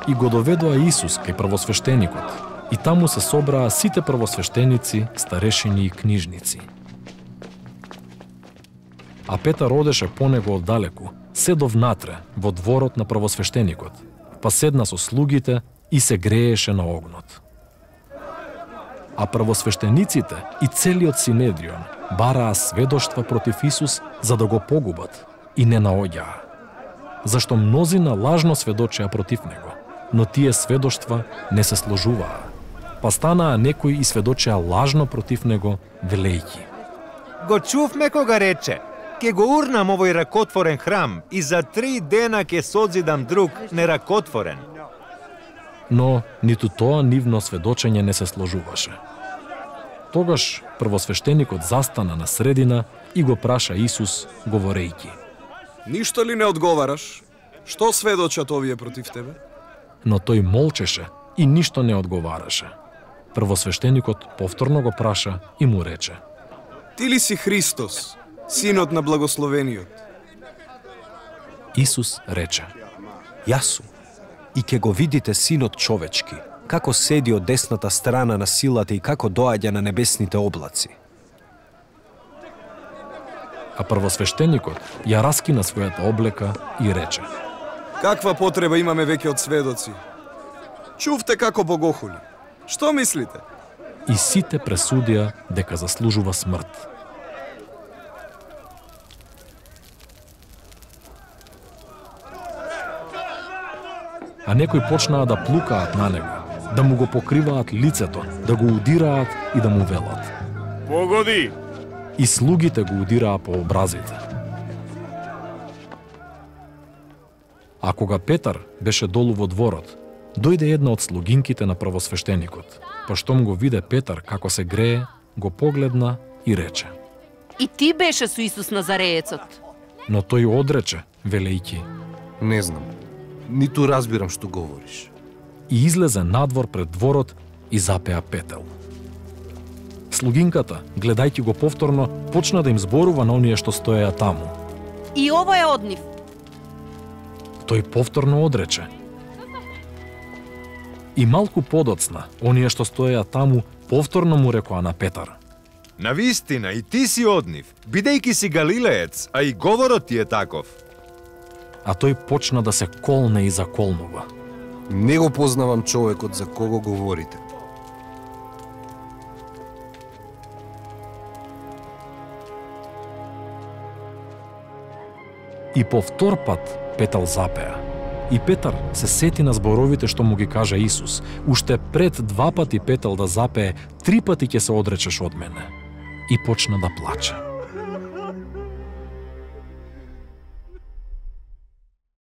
и го доведоа Исус кај првосвештеникот, и таму се собраа сите првосвештеници, старешини и книжници. А Петар одеше по него оддалеку, седо внатре, во дворот на првосвештеникот, па седна со слугите и се грееше на огнот. А првосвештениците и целиот Синедрион бараа сведоштва против Исус за да го погубат и не наоѓаа. Зашто мнозина лажно сведочеа против него, но тие сведоштва не се сложуваа. Па станаа некои и сведочеа лажно против него, велејќи: Го чувме кога рече: Ке го урнам овој ракотворен храм и за 3 дена ке созидам друг неракотворен. Но ниту тоа нивно сведочење не се сложуваше. Тогаш првосвештеникот застана на средина и го праша Исус, говорејќи: Ништо ли не одговараш? Што сведочат овие против тебе? Но тој молчеше и ништо не одговараше. Првосвештеникот повторно го праша и му рече: Ти ли си Христос, Синот на Благословениот? Исус рече: Јас сум. И ке го видите Синот човечки, како седи од десната страна на силата и како доаѓа на небесните облаци. А првосвештеникот ја раскина својата облека и рече: Каква потреба имаме веќе од сведоци? Чувте како богохули. Што мислите? И сите пресудија дека заслужува смрт. А некои почнаа да плукаат на него, да му го покриваат лицето, да го удираат и да му велат: Погоди! И слугите го удираа по образите. А кога Петар беше долу во дворот, дојде една од слугинките на првосвештеникот. Па штом го виде Петар како се грее, го погледна и рече: И ти беше со Исус Назареецот. Но тој одрече, велејќи: Не знам. Ниту разбирам што говориш. И излезе надвор пред дворот и запеа петел. Слугинката, гледајќи го повторно, почна да им зборува на оние што стоеа таму. И ова е од нив. Тој повторно одрече. И малку подоцна, оние што стоеа таму, повторно му рекоа на Петар: Навистина и ти си од нив, бидејќи си галилеец, а и говорот ти е таков. А тој почна да се колне и заколнува. Не го познавам човекот за кого говорите. И по втор пат Петел запеа. И Петар се сети на зборовите што му ги кажа Исус: Уште пред 2 пати Петел да запее, 3 пати ќе се одречеш од мене. И почна да плаче.